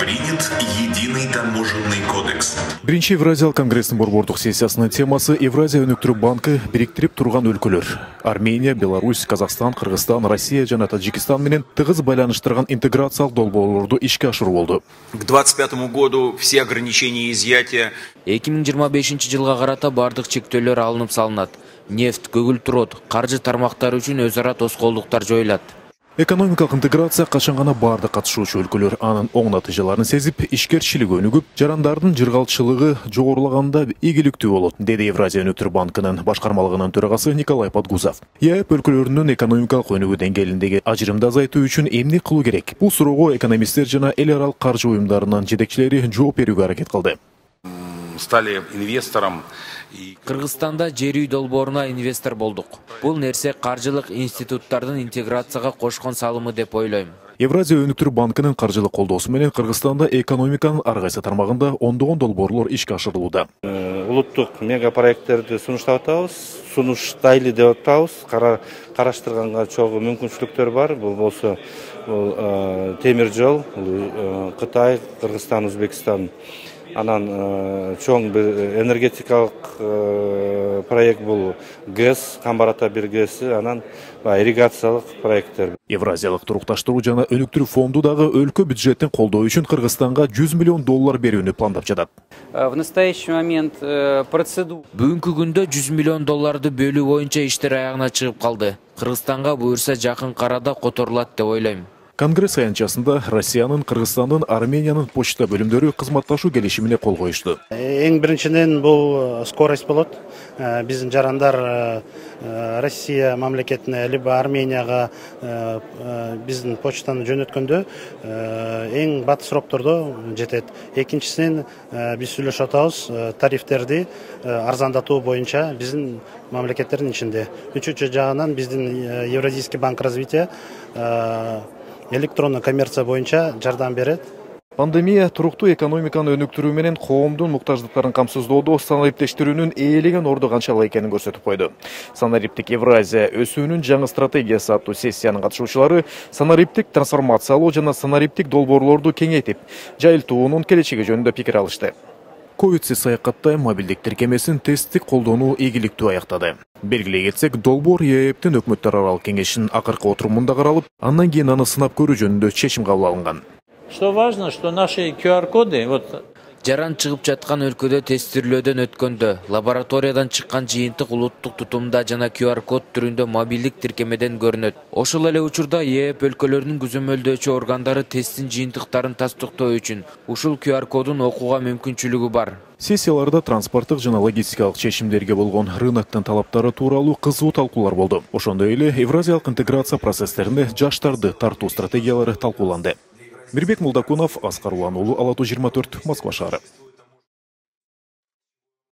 Принят единый таможенный кодекс. Биринчи Евразиялык конгресстин борбордук сессиясынын темасы Евразия өнүктүрүү банкы бириктирип турган өлкөлөр. Армения, Беларусь, Казакстан, Кыргызстан, Россия жана Таджикистан менен тыгыз байланыштырган интеграциялык долбоорлорду ишке ашыруу болду. К 2025 году все ограничения изъятия 2025 жылга карата бардык чектөөлөр алынып салынат. Нефть, көгүлтүр от, каржы тармактары үчүн өз ара тоскоолдуктар жоюлат. Экономикалык интеграция качан гана бардык катышуучу өлкөлөр анын оң натыйжаларын сезип, ишкерчилиги өнүгүп, жарандардын жыргалчылыгы жогорулаганда ийгиликтүү болот, деди Евразия өнүктүрүү банкынын башкармалыгынын төрагасы Николай Подгузов. ЕАЭП өлкөлөрүнүн экономикалык өнүгүү деңгээлиндеги ажырымды азайтуу үчүн эмне кылуу керек? Бул суроого экономисттер жана эл аралык каржы уюмдарынын жетекчилери жооп берүүгө аракет кылды. Стали инвестором. Кыргызстанда жер үй долбооруна инвестор болдук. Бул нерсе каржылык институттардын интеграцияга кошкон салымы деп ойлойм. Евразия өнүктүрүү банкынын каржылык колдоосу менен Кыргызстанда экономиканын ар кайсы тармагында ондогон долбоорлор ишке ашырылууда. Улуттук мега проекттерди сунуштап атабыз, сунуштайлы деп атабыз. Караштырганга чогуу мүмкүнчүлүктөр бар. Бул болсо темир жол, Кытай, Кыргызстан, Өзбекстан. Анан чоң бир энергетикалык проект бул ГЭС, Камбар ата бир ГЭСи, анан ирригациялык проекттер. Евразиялык турукташтыруу жана өнүктүрүү фонду дагы өлкө бюджетин колдоо үчүн Кыргызстанга $100 миллион берүүнү пландап жатат. В настоящий момент процедура. Бүгүнкү күндө $100 миллион бөлүү боюнча иштер аягына чыгып калды. Кыргызстанга буюрса жакын карада которулат деп ойлойм. Конгресс аянтчасында Россиянын, Кыргызстандын, Армениянын почта бөлүмдөрү кызматташуу келишимине кол коюшту. Эң биринчиден бул скорость болот. Биздин жарандар Россия мамлекетине либо Арменияга биздин почтаны жөнөткөндө эң батыс сроктордо жетет. Экинчисинен биз сүйлөшүп атабыз тарифтерди арзандатуу боюнча биздин мамлекеттердин ичинде. Үчүнчү жагынан биздин Евразийский банк развития электрондук коммерция боюнча жардам берет. Пандемия туруктуу экономиканы өнүктүрүү менен коомдун муктаждыктарын камсыздоодо санариптештирүүнүн ээлеген орду канчалык экенин көрсөтүп койду. Санариптик Евразия өсүүнүн жаңы стратегиясы аттуу сессиянын катышуучулары санариптик трансформациялоо жана санариптик долбоорлорду кеңейтип, жайылтуунун келечеги жөнүндө пикир алышты. Ковидсиз саякатта мобилдик тиркемесин тесттик колдонуу ийгиликтүү аяктады. Белгилей кетсек, долбоор ЕАЭПтин өкмөттөр аралык кеңешинин акыркы отурумунда каралып, андан кийин аны сынап көрүү жөнүндө чечим кабыл алынган. Что важно, что наши QR-коды Жаран чыгып жаткан өлкөдө тестирлөөдөн өткөндө, лабораториядан чыккан жыйынтык улуттук тутумда жана QR-код түрүндө мобилдик тиркемеден көрүнөт. Ошол эле учурда ЕАЭП өлкөлөрүнүн күзөмөлдөөчү органдары тесттин жыйынтыктарын тастыктоо үчүн ушул QR-кодун окууга мүмкүнчүлүгү бар. Сессияларда транспорттук жана логистикалык чечимдерге болгон рыноктун талаптары тууралуу кызуу талкуулар болду. Ошондой эле Евразиялык интеграция процесстерине жаштарды тартуу стратегиялары талкууланды. Мирбек Молдокунов, Аскар Улан уулу, Ала 24, Москва шаары.